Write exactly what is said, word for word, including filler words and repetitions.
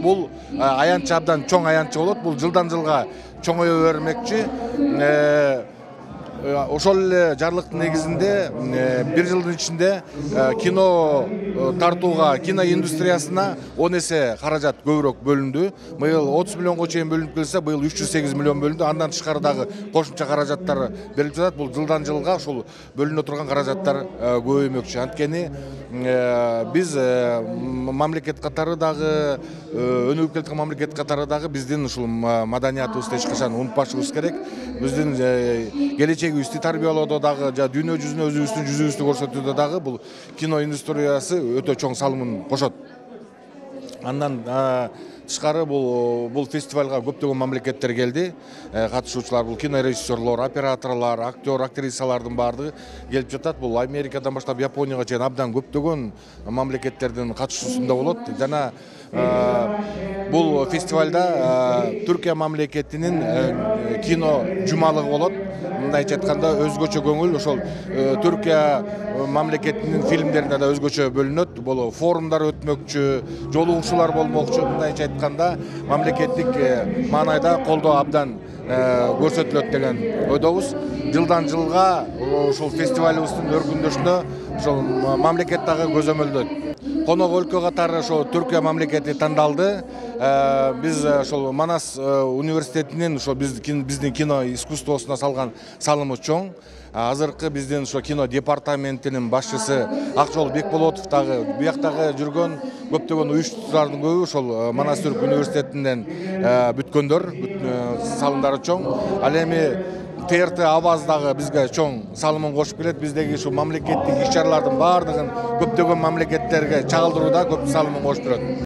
Бул аянтчы абдан чоң аянтчы болот. Бул жылдан жылга чоңое бермекчи. Ошол эле жарлыктын негизинде бир жылдын ичинде кино тартууга, кино индустриясына он эсе каражат көбүрөөк бөлүндү. Быйыл отуз миллионго чейин бөлүнүп келсе, быйыл үч жүз сегиз миллион бөлүндү. Андан тышкары дагы кошумча каражаттар берилип жатат. Бул жылдан жылга ушул бөлүнө турган каражаттар көбөймөкчү. Анткени биз мамлекет катары дагы, өнүгүп келаткан мамлекет катары дагы биздин ушул маданиятыбызды эч качан унутпашыбыз керек. Биздин келечегибизди тарбиялоодо дагы, дүйнө жүзүнө өзүбүздүн жүзүбүздү көрсөтүүдө дагы бул кино индустриясы өтө чоң салымын кошот. Андан тышкары бул бул фестивалга көптөгөн мамлекеттер келди. Катышуучулар бул кинорежиссерлор, операторлор, актер, актрисалардын баардыгы келип жатат. Бул Америкадан баштап Японияга чейин абдан көптөгөн мамлекеттердин катышуусунда болот. Жана бул фестивалда Түркия мамлекетинин кино жумалыгы болот. Мындайча айтканда өзгөчө көңүл ошол Түркия мамлекетинин фильмдерине да өзгөчө бөлүнөт. Бул форумдар өтмөкчү, жолугушуулар болмокчу. Мындайча айтканда мамлекеттик маанайда колдоо абдан көрсөтүлөт деген ойдобуз. Жылдан жылга ушул фестивалыбыздын өркүндөшүнө ошол мамлекет дагы көзөмөлдөйт. Конок өлкө катары ошо Түркия мамлекети тандалды. Биз ошол Манас университетинин ошо биздин кино искусствосуна салган салымы чоң. Азыркы биздин ошо кино департаментинин башчысы Акжол Бекболотов дагы бияктагы жүргөн көптөгөн уюштуруулардын көбү ошол Манас Түрк университетинен бүткөндөр, салымдары чоң. Ал эми Т Р Т Аваз дагы бизге чоң салымын кошуп келет. Биздеги ушу мамлекеттик иш-чаралардын баардыгын көптөгөн мамлекеттерге чагылдырууда көп салымын кошуп турат.